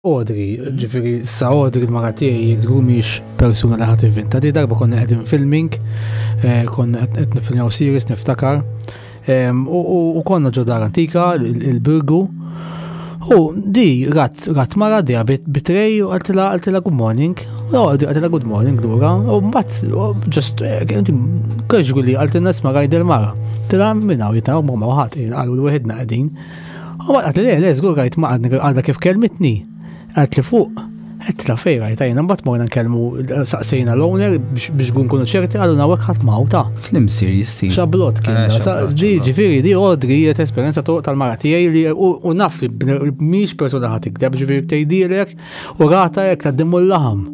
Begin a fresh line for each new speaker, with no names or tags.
Audrey, ġifieri sa Audrey l-mara tiegħi żgur mhix persuna li ħadd ivvinta. Di darba konna qegħdin filming, eh, konna qed nifilmjaw series niftakar. U konna ġo dar antika, il-Birgu. U di rat rat mara di bitrej u għaltila għaltila good morning. U Audrey għaltila good morning lura. U mbagħad just eh, casually għaltilna isma' rajd il-mara. Tila minn hawn jitna ma ħadd qalu l-wieħedna qegħdin. U għat li le, le, zgur għajt ma għadni għadha kif kelmitni. Għat li fuq, għet la fej għajt għajna, mbat morna nkellmu saqsejna l-owner biex gun kunu ċerti għallu nawek ħadd mawta.
Flim serious
ti. Xablot kien. Eh, di ġifieri di Audrey jiet esperjenza tal-mara tiegħi li u naf li mhix persuna ħadd ikdeb ġifieri tgħidilek u rata jekk tgħaddimu l-laħam.